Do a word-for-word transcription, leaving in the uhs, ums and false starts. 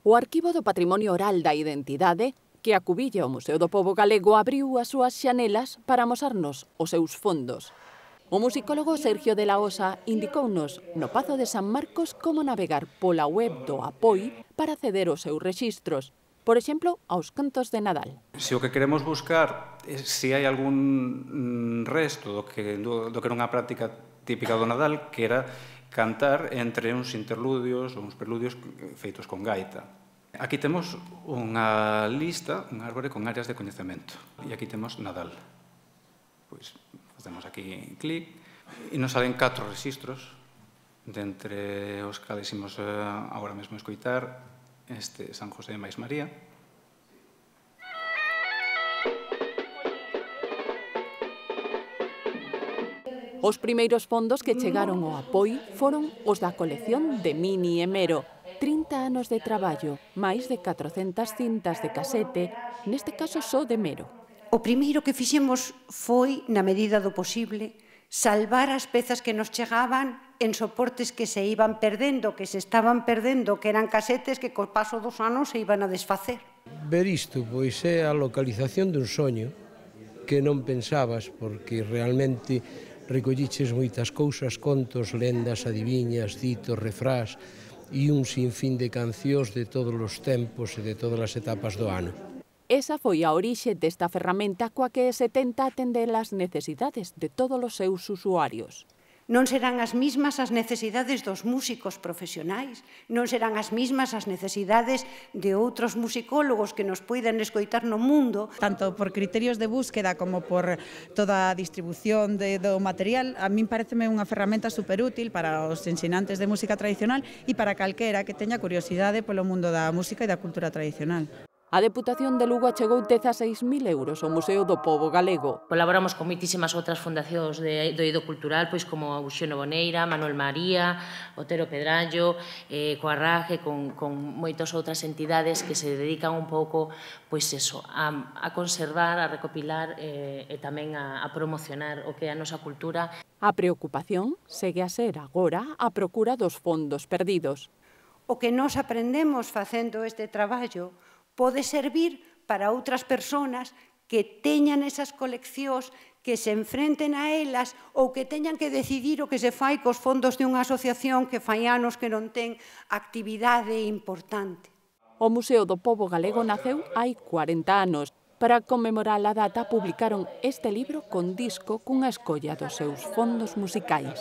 O Arquivo do Patrimonio Oral da Identidade, que acubilla o Museo do Pobo Galego, abriu as súas xanelas para amosarnos os seus fondos. O musicólogo Sergio de la Osa indicounos no Pazo de San Marcos como navegar pola web do Apoi para acceder aos seus rexistros, por exemplo, aos cantos de Nadal. Se o que queremos buscar é se hai algún resto do que, do, do que era unha práctica típica do Nadal, que era cantar entre uns interludios ou uns preludios feitos con gaita. Aquí temos unha lista, un árbore con áreas de coñecemento. E aquí temos Nadal. Pois facemos aquí clic e nos salen catro rexistros, dentre os cales imos agora mesmo escoitar este San José máis María. Os primeiros fondos que chegaron ao Apoi foron os da colección de Mini e Mero. trinta anos de traballo, máis de catrocentas cintas de casete, neste caso só de Mero. O primeiro que fixemos foi, na medida do posible, salvar as pezas que nos chegaban en soportes que se iban perdendo, que se estaban perdendo, que eran casetes que co paso dos anos se iban a desfacer. Ver isto, pois, é a localización dun soño que non pensabas, porque realmente recolliches moitas cousas, contos, lendas, adiviñas, ditos, refrás e un sinfín de cancións de todos os tempos e de todas as etapas do ano. Esa foi a orixe desta ferramenta coa que se tenta atender as necesidades de todos os seus usuarios. Non serán as mismas as necesidades dos músicos profesionais, non serán as mismas as necesidades de outros musicólogos que nos poidan escoitar no mundo. Tanto por criterios de búsqueda como por toda a distribución de, do material, a min pareceme unha ferramenta superútil para os ensinantes de música tradicional e para calquera que teña curiosidade polo mundo da música e da cultura tradicional. A Deputación de Lugo achegou dezaseis mil euros ao Museo do Pobo Galego. Colaboramos con moitísimas outras fundacións de, do eido cultural, pois como Uxeno Boneira, Manuel María, Otero Pedrallo, eh, coa RAGE, con, con moitas outras entidades que se dedican un pouco pois eso, a, a conservar, a recopilar eh, e tamén a, a promocionar o que é a nosa cultura. A preocupación segue a ser agora a procura dos fondos perdidos. O que nós aprendemos facendo este traballo pode servir para outras persoas que teñan esas coleccións, que se enfrenten a elas ou que teñan que decidir o que se fai cos fondos de unha asociación que fai anos que non ten actividade importante. O Museo do Pobo Galego naceu hai cuarenta anos. Para conmemorar a data publicaron este libro con disco cunha escolla dos seus fondos musicais.